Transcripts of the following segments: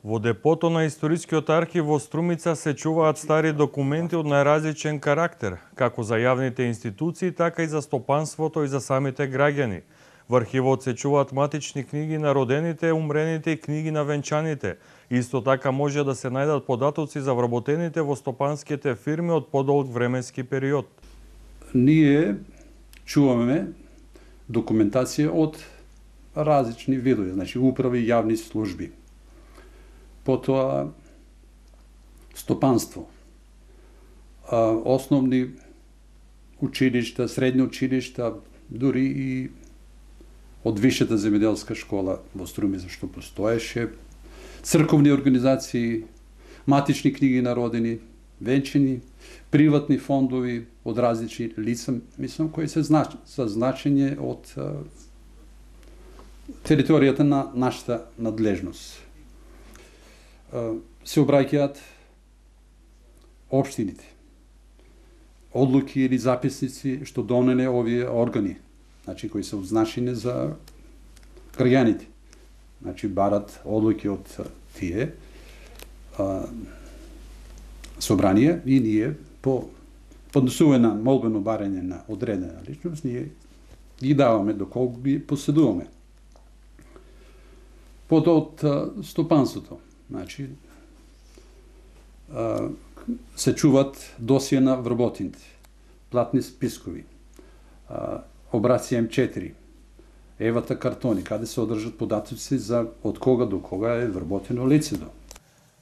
Во депото на Историскиот архив во Струмица се чуваат стари документи од најразличен карактер, како за јавните институции, така и за стопанството и за самите граѓани. Во архивот се чуваат матични книги на родените, умрените и книги на венчаните. Исто така може да се најдат податоци за вработените во стопанските фирми од подолг временски период. Ние чуваме документација од различни видови, значи управи и јавни служби. Потоа стопанство, основни училишта, средни училишта, дури и од Висшата земјоделска школа во Струмица што постоеше, црковни организации, матични книги на родени, венчани, приватни фондови од различни лица, мислам, кои се значење од територијата на нашата надлежност. Се обраќаат општините, одлуки или записници што донеле овие органи, значи кои се одзначени за граѓаните. Значи барат одлуки од тие собранија и ние по поднесување на молбено барање на одредена личност, ние ги даваме доколку ги поседуваме. Од стопанството, значи, се чуват досија на вработените, платни спискови, обраци М4, евата картони, каде се одржат податоци за од кога до кога е вработено лицето.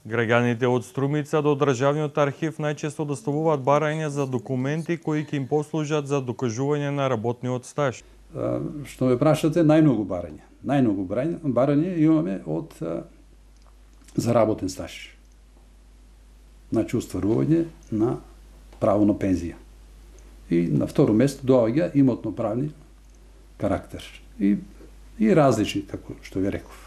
Граѓаните од Струмица до Државниот архив најчесто доставуваат барања за документи кои ќе им послужат за докажување на работниот стаж. Што ме прашате, најмногу барања. Најмногу барања имаме од заработен стаж. Значи, устварување на право на пензија. И на второ место доаѓа имотно-правни карактер. И различни, како што ви реков.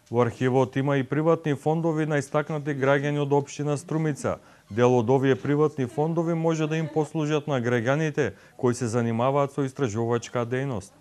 Во архивот има и приватни фондови на истакнати граѓани од општина Струмица. Дел од овие приватни фондови може да им послужат на граѓаните кои се занимаваат со истражувачка дејност.